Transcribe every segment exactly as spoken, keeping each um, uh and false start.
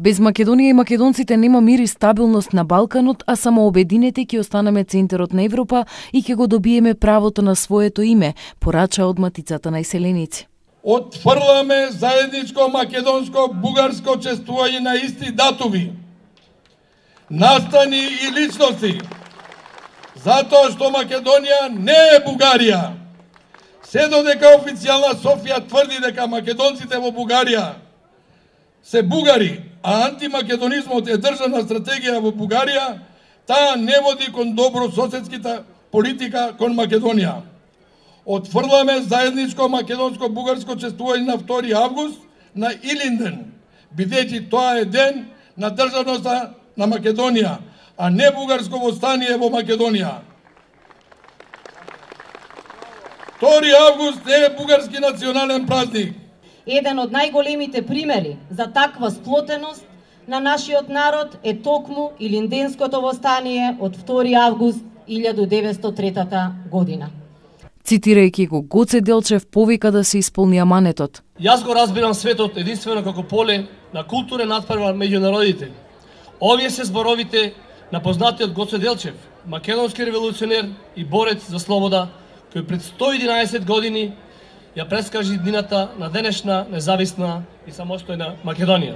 Без Македонија и македонците нема мир и стабилност на Балканот, а само обединете ќе останеме центарот на Европа и ќе го добиеме правото на своето име, порача од Матицата на иселеници. Отфрламе заедничко македонско-бугарско чествување на исти датуми, настани и личности, затоа што Македонија не е Бугарија. Се додека официјална Софија тврди дека македонците во Бугарија се бугари, а антимакедонизмот е државна стратегија во Бугарија, таа не води кон добро соседската политика кон Македонија. Отфрламе заедничко македонско-бугарско чествување на втори август на Илинден, бидејќи тоа е ден на државноста на Македонија, а не бугарско востание во Македонија. втори август не е бугарски национален празник. Еден од најголемите примери за таква сплотеност на нашиот народ е токму Илинденското востание од втори август илјадум деветстотини и трета година. Цитирајќи го, Гоце Делчев повика да се исполни аманетот. Јас го разбирам светот единствено како поле на културен надпревар меѓу народите. Овие се зборовите на познатиот Гоце Делчев, македонски револуционер и борец за слобода, кој пред сто и единаесет години ја прескажи днината на денешна независна и самостојна Македонија.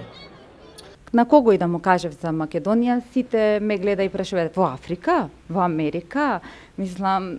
На кого и да му кажев за Македонија, сите ме гледа и прашуваат во Африка, во Америка. Мислам,